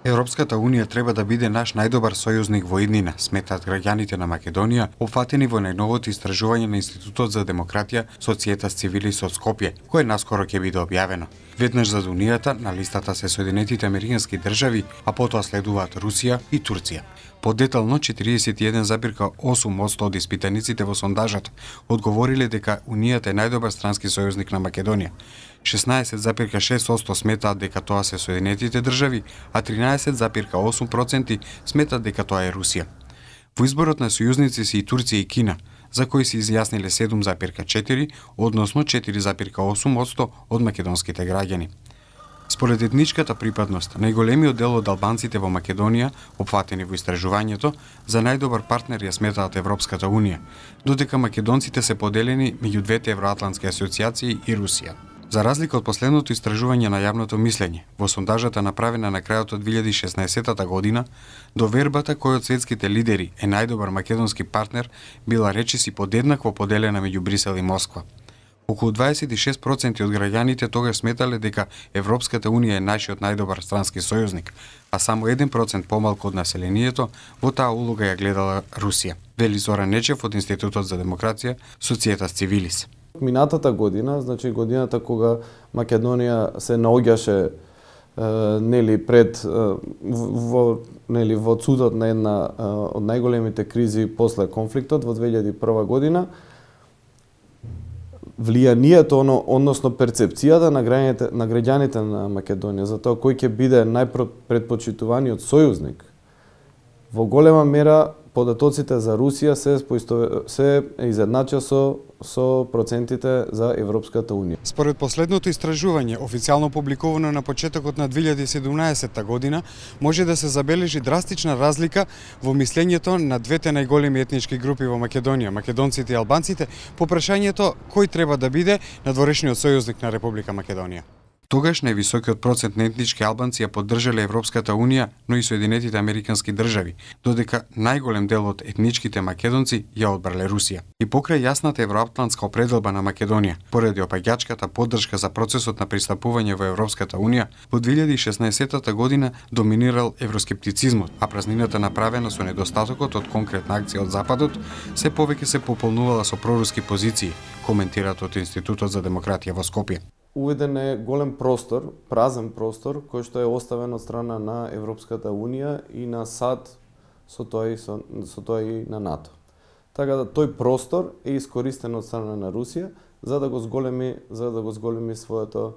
Европската унија треба да биде наш најдобар сојузник во иднина, сметаат граѓаните на Македонија, опфатени во најновото истражување на Институтот за демократија Societas Civilis од Скопје, кое наскоро ќе биде објавено. Веднаш зад Унијата на листата се Соединетите Американски држави, а потоа следуваат Русија и Турција. Подетално 41,8% од испитаниците во сондажот одговориле дека Унијата е најдобар странски сојузник на Македонија. 16,6% сметаат дека тоа се Соединетите држави, а 13,8% сметаат дека тоа е Русија. Во изборот на сојузници се и Турција и Кина, за кои се изјасниле 7,4, односно 4,8% од македонските граѓани. Според етничката припадност, најголемиот дел од албанците во Македонија, опфатени во истражувањето, за најдобар партнер ја сметаат Европската унија, додека македонците се поделени меѓу двете евроатлантски асоциации и Русија. За разлика од последното истражување на јавното мислење, во сондажата направена на крајот од 2016 година, довербата кој од светските лидери е најдобар македонски партнер била речиси подеднакво поделена меѓу Брисел и Москва. Околу 26% од граѓаните тогаш сметале дека Европската унија е нашиот најдобар странски сојузник, а само 1% помалку од населението во таа улога ја гледала Русија, вели Зоран Нечев од Институтот за демократија Societas Civilis. Минатата година, значи годината кога Македонија се наоѓаше во цудот на една од најголемите кризи после конфликтот во 2001 година, влијанието, односно перцепцијата на граѓаните на Македонија за тоа кој ќе биде најпредпочитуваниот сојузник, во голема мера податоците за Русија се изеднача со процентите за Европската унија. Според последното истражување, официјално публикувано на почетокот на 2017 година, може да се забележи драстична разлика во мислењето на двете најголеми етнички групи во Македонија, македонците и албанците, по прашањето кој треба да биде надворешниот сојузник на Република Македонија. Тогаш највисокиот процент на етнички албанци ја поддржале Европската унија, но и Соединетите Американски држави, додека најголем дел од етничките македонци ја одбрале Русија. И покрај јасната евроатлантска определба на Македонија, поради опаѓачката поддршка за процесот на пристапување во Европската унија, во 2016 година доминирал евроскептицизмот, а празнината направена со недостатокот од конкретна акција од Западот, се повеќе се пополнувала со проруски позиции, коментираат од Институтот за демократија во Скопје. Уведен е голем простор, празен простор, кој што е оставен од страна на Европската унија и на САД, со тоа и на НАТО. Така да тој простор е искористен од страна на Русија за да го зголеми своето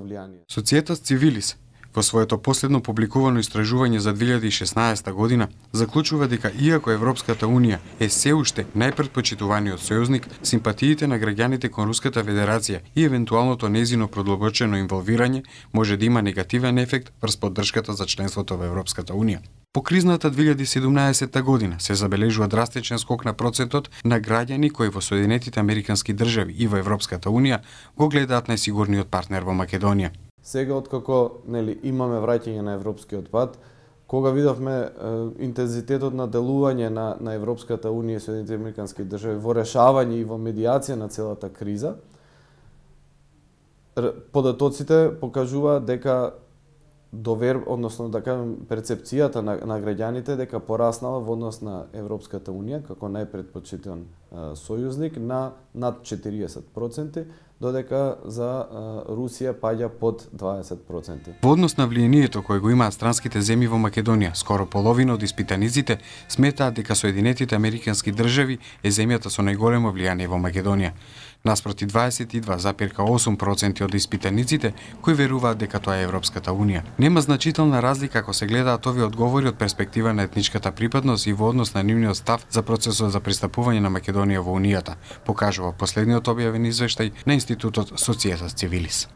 влијание. Societas Civilis во своето последно публикувано истражување за 2016 година заклучува дека иако Европската унија е се уште најпредпочитуваниот сојузник, симпатиите на граѓаните кон Руската Федерација и евентуалното нејзино продлабочено инволвирање може да има негативен ефект врз поддршката за членството во Европската унија. По кризната 2017 година се забележува драстичен скок на процентот на граѓани кои во Соединетите Американски држави и во Европската унија го гледаат најсигурниот партнер во Македонија. Сега откако имаме враќање на европскиот пат, кога видовме интензитетот на делување на Европската унија и Соединетите Американски држави во решавање и во медијација на целата криза, податоците покажуваат дека односно да кажем перцепцијата на граѓаните дека пораснала во однос на Европската унија како најпредпочитан сојузник на над 40%, додека за Русија паѓа под 20%. Во однос на влијанието кое го имаат странските земји во Македонија, скоро половина од испитаниците сметаат дека Соединетите Американски држави е земјата со најголемо влијание во Македонија, наспроти 22,8% од испитаниците кои веруваат дека тоа е Европската унија. Нема значителна разлика ако се гледаат овие одговори од перспектива на етничката припадност и во однос на нивниот став за процесот за пристапување на Македонија во Унијата, покажува последниот објавен извештај на Институтот Societas Civilis.